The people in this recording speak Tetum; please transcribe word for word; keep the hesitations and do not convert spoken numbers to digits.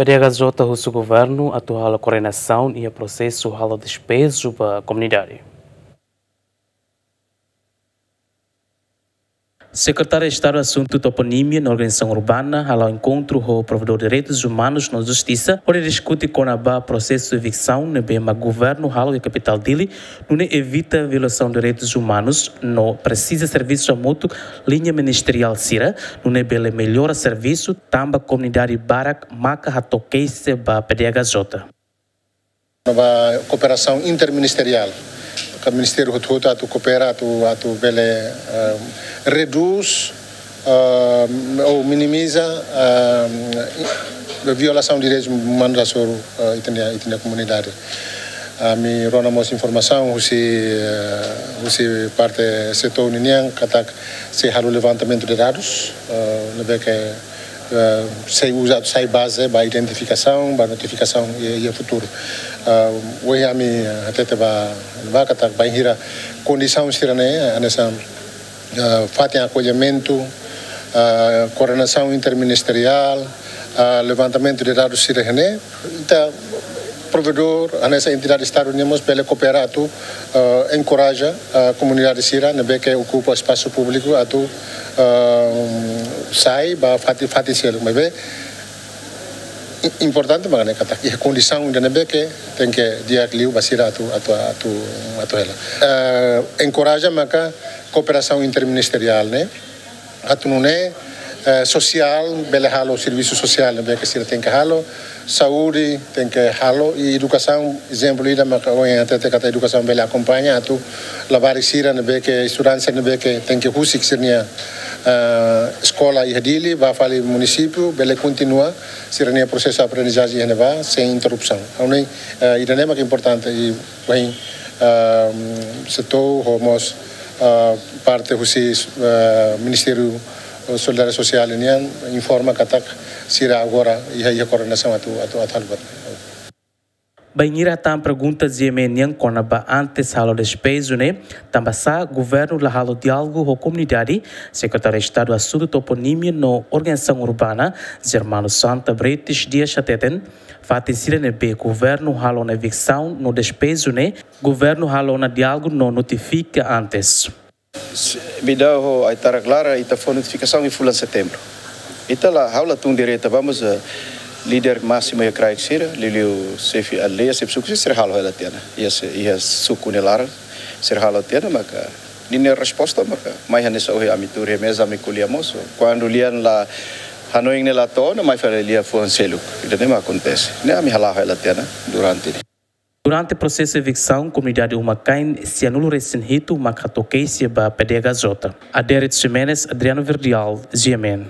P D H J husu governu atu halo koordenasaun iha prosesu halo despeju ba komunidade. Sekretáriu Estadu Asuntu Toponímia no Organizasaun Urbana hala'o enkontru ho Provedór Direitus Umanus no Justisa, hodi diskute kona-ba prosesu eviksaun ne'ebé mak governu halo iha kapitál Dili, nune'e evita violasaun direitus umanus no presiza servisu hamutuk liña ministeriál sira, nune'e bele mellora servisu, tanba komunidade barak maka hato'o keixa ba P D H J. Ba kooperasaun interministeriál, ka ministériu hotu-hotu atu koopera, atu, atu bele, eh, redús, eh, ou minimiza, eh, violasaun direitus umanus hasoru, eh, ita-nia, ita-nia komunidade. Ami rona mós informasaun husi, eh, husi parte SEATOU ninian, katak sei halo levantamentu de dadus, eh, ne'ebé ke, eh, sei uza, sai baze ba identifikasaun, ba notifikasaun iha, iha futuru. Eh, ohin ami, eh, hatete ba, ba katak bainhira kondisaun sira-ne'e, hanesan, eh, fatin akollimentu, eh, koordenasaun interministeriál, eh, levantamentu de dadus sira-ne'e, ita provedór, hanesan entidade Estadu nian mós bele koopera atu, eh, enkoraja, eh, komunidade sira ne'ebé ke okupa espasu públiku atu, eh, sai ba fatin, fatin seluk. Maibé i-, importante mak ne'e katak iha kondisaun ida ne'ebé ke tenke di'ak liu ba sira atu, atu, atu, atu hela. Eh, enkoraja maka kooperasaun interministeriál ne'e, atu nune'e, eh, sosiál, bele halo servisu sosiál ne'ebé ke sira tenke halo, saúde tenke halo, i edukasaun, ezemplu ida maka ohin hatete katak edukasaun bele akompaña atu labarik sira ne'ebé ke, estudante sira ne'ebé ke tenke husik sira-nia, eh, eskola iha Dili, ba fali munisípiu, bele kontinua sira-nia prosesu aprendizajen iha ne'ebá sein interrupsaun. Ha'u hanoin, eh, ida-ne'e mak importante i bain, ehm, SEATOU ho mós, eh, parte husi, eh, Ministériu Solidariedade Sosiál nian informa katak sira agora iha, iha koordenasaun atu, atu, atu halo buat. Bainhira hetan pergunta GMN nian kona-ba antes halo despeju ne'e, tanbasá governu la halo diálogu ho komunidade, Sekretáriu Estadu Asuntu Toponímia no Organizasaun Urbana, Germano Santa Bretes Dias hateten, fatin sira ne'ebé governu halo ona eviksaun no despeju ne'e, governu halo ona diálogu no notifika antes. Midau ho Aitarak Laran, ita fó notifikasaun iha fulan Setembru. Ita la, ha'u la tun direta ba, mas, eh, líder másimu iha kraik sira, liuliu xefe aldeia, xefe suku sira, sira halo hela tiha ona. Iha se, iha suku nia laran, sira halo tiha ona, maka ninia resposta maka mai hanesan ohin ami tuur iha meza ami ko'alia mós. Kuandu lian la hanoin ne'e la to'o ona, mai fali lia fuan seluk. Ida-ne'e mak akontese. Ne'e ami hala'o hela tiha ona durante ne'e. Durante prosesu eviksaun, komunidade uma-kain sianulu-resin-hitu mak hato'o keixa ba P D H J. Adérito Ximenes, Adriano Verdial, GMN.